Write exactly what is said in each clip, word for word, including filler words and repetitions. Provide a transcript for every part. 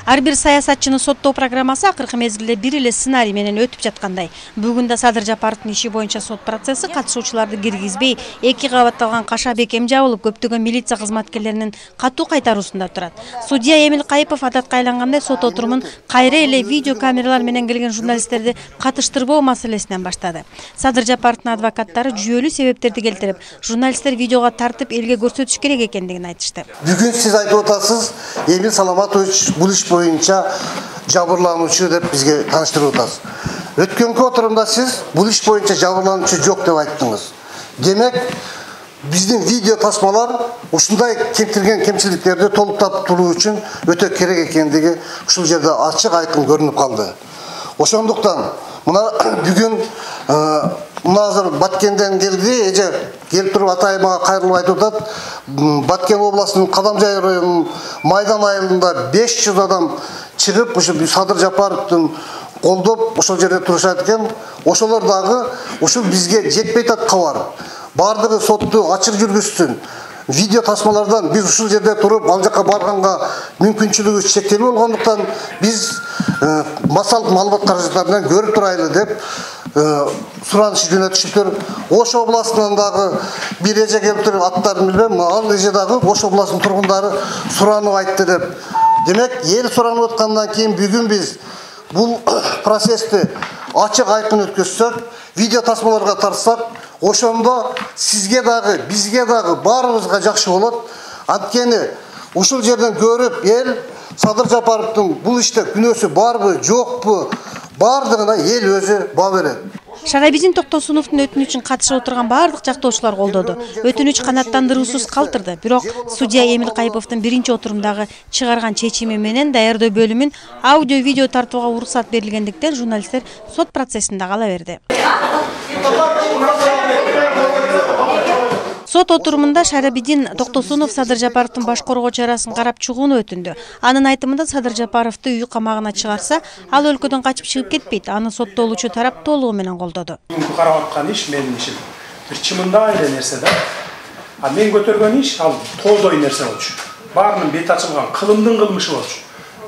Ар бир саясатчыны соттоо программасы акыркы мезгилде бир эле сценарий менен өтүп жаткандай. Бүгүн да Садыр Жапаровдун иши боюнча сот процесси катышуучуларды киргизбей, эки кабатталган каша бекем жабылып, көптөгөн милиция кызматкерлеринин катуу кайтаруусунда турат. Судья Эмил Кайыпов адатка айлангандай сот отурумун кайра эле видео камералар менен келген журналисттерди катыштырбоо маселесинен баштады. Садыр Жапаровдун адвокаттары жүйөлүү себептерди келтирип, журналисттер видеого тартып элге көрсөтүш керек экендигин айтышты. Бүгүн сиз айтып атасыз, Эмил Саламатович бул иш боюнча жабырлануучу деп бизге тааныштырып атасыз. Өткөнкү отурумда сиз бул иш боюнча жабырлануучу жок деп айттыңыз. Демек, биздин видео тасмалар ушундай келтирген кемчиликтерди толуктап туруу үчүн өтө керек экендиги ушул жерде ачык айкын көрүнүп калды. Ошондуктан мына бүгүн мына азыр Баткенден келди, эже келип туруп атайыма кайрылып айтып атат. Баткен областынын Кадамжай районунун Майдан айылында беш жүз адам чыгып, ушу Садыр Жапаровдун колдоп ошол жерде турушат экен. Ошолор дагы ушул бизге жетпей атат кабар. Бардыгы сотту ачык жүргүзсүн. Видео тасмалардан биз ушул жерде туруп ал жака барганга мүмкүнчүлүгүбүз чектелүү болгондуктан биз массалык маалымат каражаттарынан көрүп турайлы деп сураныш жөнөтүшүптүр. Ош областынан дагы бир эже келип туруп, аттарын билбейм, ал эже дагы Ош областынын тургундары суранып айтты деп. Демек, эл суранып аткандан кийин бүгүн биз бул процессти ачык айкын өткөзсөк, видео тасмаларга тартсак, ошондо сизге дагы, бизге дагы, баарыбызга жакшы болот. Анткени ушул жерден көрүп эл Садыр Жапаровдун бул иште күнөөсү барбы, жокпу, бардыгына эл өзү баа берет. Шарабизин Токтосуновдун өтүнүчүн катышып отурган бардык жактоочулар колдоду. Өтүнүч канааттандыруусуз калтырды. Бирок судья Эмил Кайыповдун биринчи отурумдагы чыгарган чечими менен даярдоо бөлүмүн аудио-видео тартууга уруксат берилгендиктен журналисттер сот процессинде кала берди. Сот отурумунда Шарабидин Токтосунов Садыр Жапаровдун баш коргоо чарасын карап чыгууну өтүндү. Анын айтымында Садыр Жапаровду үй камагына чыгарса, ал өлкөдөн качып чыгып кетпейт. Аны соттолуучу тарап толугу менен колдоду. Бүгүнкү карап аткан иш менин ишим. Бир чымындай эле нерсе да. А мен көтөргөн иш ал тоодой нерсе болчу. Баарынын бети ачылган, кылымдын кылмышы болчу.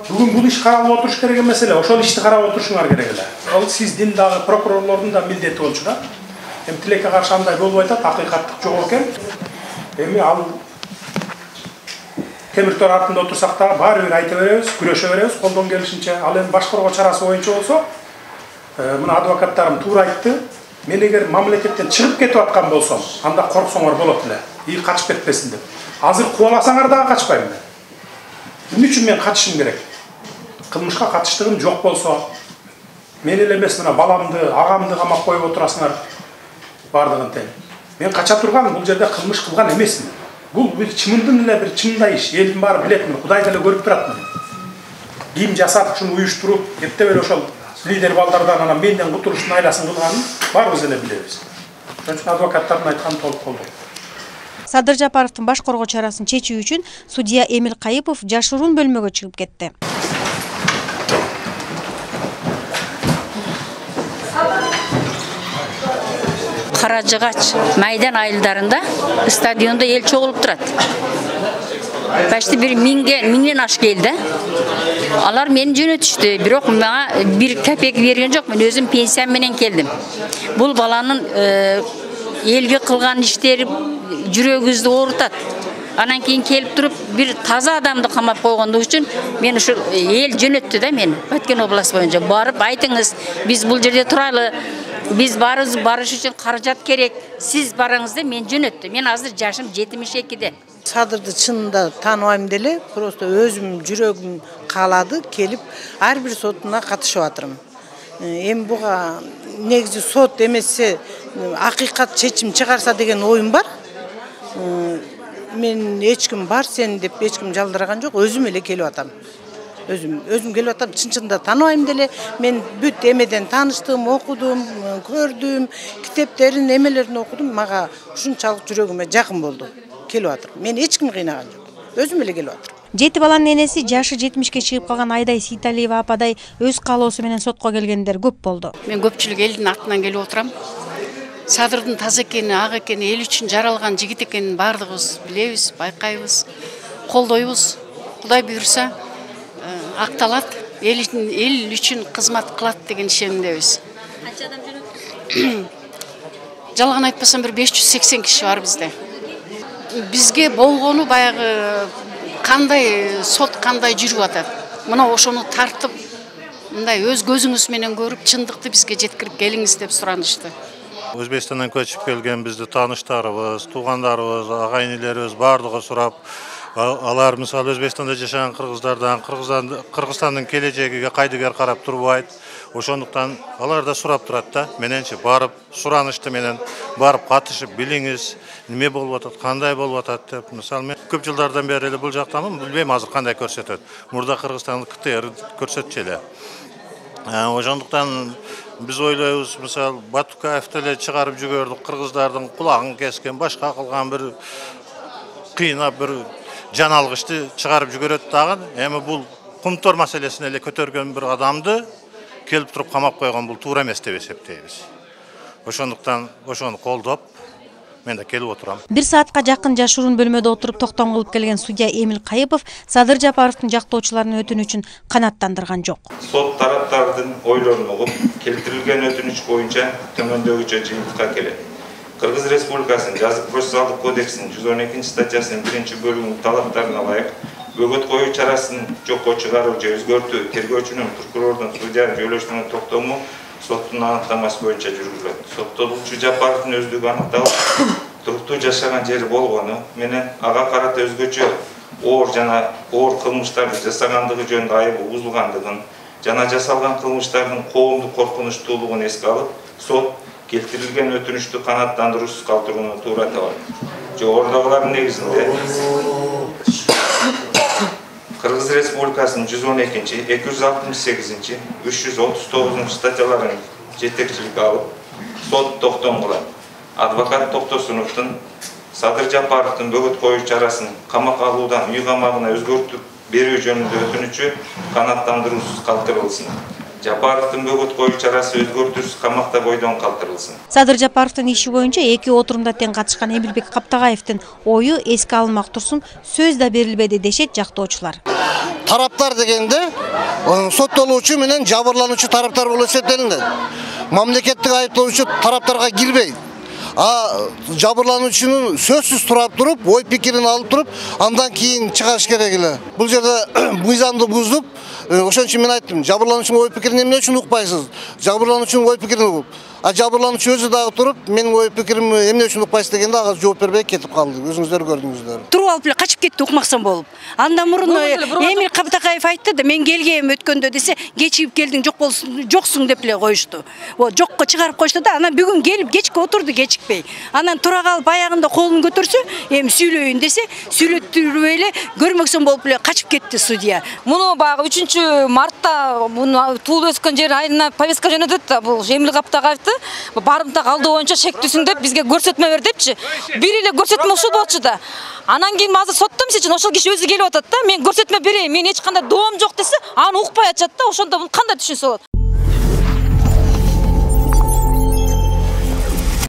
Бүгүн бул иш каралып отуруш керек эмес эле, ошол ишти карап отурушуңар керек эле. Ал сиздин дагы прокурорлордун да милдети болчу да. Эми тилекке каршы андай болбой атат, акыйкаттык жок экен. Эми ал темир тор артында отурсак да баары бир айта беребиз, күрөшө беребиз колдон келишинче. Ал эми баш коргоо чарасы боюнча болсо, мына адвокаттарым туура айтты. Мен эгер мамлекеттен чыгып кетип аткан болсом, анда корксоңор болот эле. И качып кетпесин деп. Азыр кубаласаңар дагы качпайм мен. Эмне үчүн мен качышым керек? Кылмышка катыштыгым жок болсо, мен эле эмес, мына баламды, агамды камап коюп отурасыңар. Бардыгын тең. Мен кача турган бул жерде кылмыш кылган эмесмин. Бул бир чымындын эле бир чымындай иш. Элдин баары билет, Кудай деле көрүп турат мени. Кийим жасап, ушуну уюштуруп, эптеп эле ошол лидер балдардан анан менден кутулуштун айласын кылганын баарыбыз эле билебиз. Ошон үчүн адвокаттардын айтканын толук колдойм. Садыр Жапаровдун баш коргоо чарасын чечүү үчүн судья Эмил Кайыпов жашыруун бөлмөгө чыгып кетти. Каражыгач Майдан айылдарында стадиондо эл чогулуп турат. Почти бир миңден миңден ашык эл да. Алар мени жөнөтүштү, бирок мага бир копейка берген жок. Мен өзүм пенсиям менен келдим. Бул баланын элге кылган иштери жүрөгүбүздү оорутат. Анан кийин келип туруп бир таза адамды камап койгондук үчүн мен ушул эл жөнөттү да мени. Баткен областы боюнча барып айтыңыз, биз бул жерде туралы. Биз барыбыз барыш үчүн каражат керек. Сиз барыңыз деп мен жөнөттү. Мен азыр жашым жетимиш экиде. Садырды чынында тааныбайм деле, просто өзүм жүрөгүм каалады, келип ар бир сотуна катышып атырмын. Эми буга негизи сот эмесе акыйкат чечим чыгарса деген оюм бар. Мен эч ким бар сен деп эч ким жалдыраган жок, өзүм эле келип атам. Өзүм өзүм келип атам, чын-чынында тааныбайм деле. Мен бүт эмеден тааныштым, окудум, көрдүм, китептерин, эмелерин окудум. Мага ушунчалык жүрөгүмө жакын болду. Келип атыр. Мен эч ким кыйнаган жок. Өзүм эле келип атыр. Жети баланын энеси жашы жетимишке чыгып калган Айдай Сейталиева ападай өз каалоосу менен сотко келгендер көп болду. Мен көпчүлүк элдин атынан келип отурам. Садырдын таза экени, ак экени, эл үчүн жаралган жигит экенин бардыгыбыз билебиз, байкайбыз, колдойбуз. Кудай буйрса, акталат, эл эл үчүн кызмат кылат деген ишенимдебиз. Канча адам жөнөттү? Жалган айтпасам бир беш жүз сексен киши бар бизде. Бизге болгону баягы кандай сот кандай жүрүп атат. Мына ошону тартып, мындай өз көзүңүз менен көрүп, чындыкты бизге жеткирип келиңиз деп суранышты. Өзбекстандан көчүп келген бизди тааныштарыбыз, туугандарыбыз, агайын-энелерибиз бардыгы сурап, алар мисалы Өзбекстанда жашаган кыргыздардан Кыргызстандын келечегиге кайдыгер карап турбайт. Ошондуктан алар да сурап турат да. Мененчи барып суранышты менен барып катышып билиңиз, неме болуп атат, кандай болуп атат деп. Мисалы мен көп жылдардан бери эле бул жактамын, билбейм азыр кандай көрсөтөт. Мурда Кыргызстандын КТР көрсөтчү эле. Ошондуктан биз ойлойбуз, мисалы Батукаевди эле чыгарып жүгөрдүк, кыргыздардын кулагын кескен, башка кылган бир кыйнап бир жан алгычты чыгарып жүгөрөт дагы. Эми бул кумтор маселесин эле көтөргөн бир адамды келип туруп камап койгон бул туура эмес деп эсептейбиз. Ошондуктан ошону колдоп мен да келип отурам. Бир саатка жакын жашыруун бөлмөдө отуруп токтом кылып келген судья Эмил Кайыпов Садыр Жапаровдун жактоочуларынын өтүнүчүн канааттандырган жок. Сот тараптардын ойлорун угуп, келтирилген өтүнүч боюнча төмөндөгүчө жыйынтыкка келет. Кыргыз Республикасынын жазык процессуалдык кодексинин жүз он экинчи статьясынын биринчи бөлүгүнүн талаптарына ылайык бөгөт коюу чарасын жокко чыгаруу же өзгөртүү тергөөчүнүн, прокурордун, судьянын жөйлөшмөнү токтому соттун аныктамасы боюнча жүргүзүлөт. Соттолуучу Жапаровдун өздүгү аныкталып, туруктуу жашаган жери болгону менен ага карата өзгөчө оор жана оор кылмыштарды жасагандыгы жөнүндө айыбы угузулгандыгын жана жасалган кылмыштардын коомдук коркунучтуулугун эске алып, сот келтирилген өтүнүчтү канааттандыруусуз калтырууну туура табат. Жогорудагылардын негизинде Кыргыз Республикасынын жүз он экинчи, эки жүз алтымыш сегизинчи, үч жүз отуз тогузунчу статьяларын жетекчиликке алып, сот токтом кылат. Адвокат Токтосуновдун Садыр Жапаровдун бөгөт коюу чарасын камакка алуудан үй камагына өзгөртүп берүү жөнүндө өтүнүчү канааттандыруусуз калтырылсын. Жапаровдун бөгөт коюу чарасы өзгөртүүсүз камакта бойдон калтырылсын. Садыр Жапаровдун иши боюнча эки отурумда тең катышкан Эмилбек Каптагаевдин ою эске алынмак турсун сөз да берилбеди дешет жактоочулар. Тараптар дегенде соттолуучу менен жабырлануучу тараптар болуп эсептелинет. Мамлекеттик айыптоочу тараптарга кирбейт. А жабырлануучунун сөзсүз турап туруп, ой пикирин алып туруп, андан кийин чыгарыш керек эле. Бул жерде мыйзамды буздуп, ошон үчүн мен айттым, жабырлануучунун ой пикирин эмне үчүн укпайсыз? Жабырлануучунун ой пикирин угуп. А жабырлануучу өзү дагы туруп, менин ой пикирим эмне үчүн укпайсыз дегенде ага жооп бербей кетип калды. Өзүңүздөр көрдүңүздөр. Туруп алып эле качып кетти укмаксан болуп. Андан мурун Эмил Каптагаев айтты да, мен келгем өткөндө десе, кечигип келдиң, жок болсун, жоксуң деп эле коюшту. Вот жокко чыгарып коюшту да, анан бүгүн келип кечке отурду кечикпей. Анан тура калып аягында колун көтөрсө, эми сүйлөйүн десе, сүйлөттүрүп эле көрмөксөн болуп эле качып кетти судья. Муну баягы үчүнчү мартта муну туулуп өскөн жери айына повестка жөнөтөт да, бул Эмил Каптагаевди барымта калдоо боюнча шектүүсүң деп бизге көрсөтмө бер депчи. Бир эле көрсөтмө ушул болчу да. Анан кийин азыр сотто мисалы ошол киши өзү келип атат да, мен көрсөтмө берейин, мен эч кандай доом жок десе, аны укпай атышат да, ошондо кандай түшүнсө болот?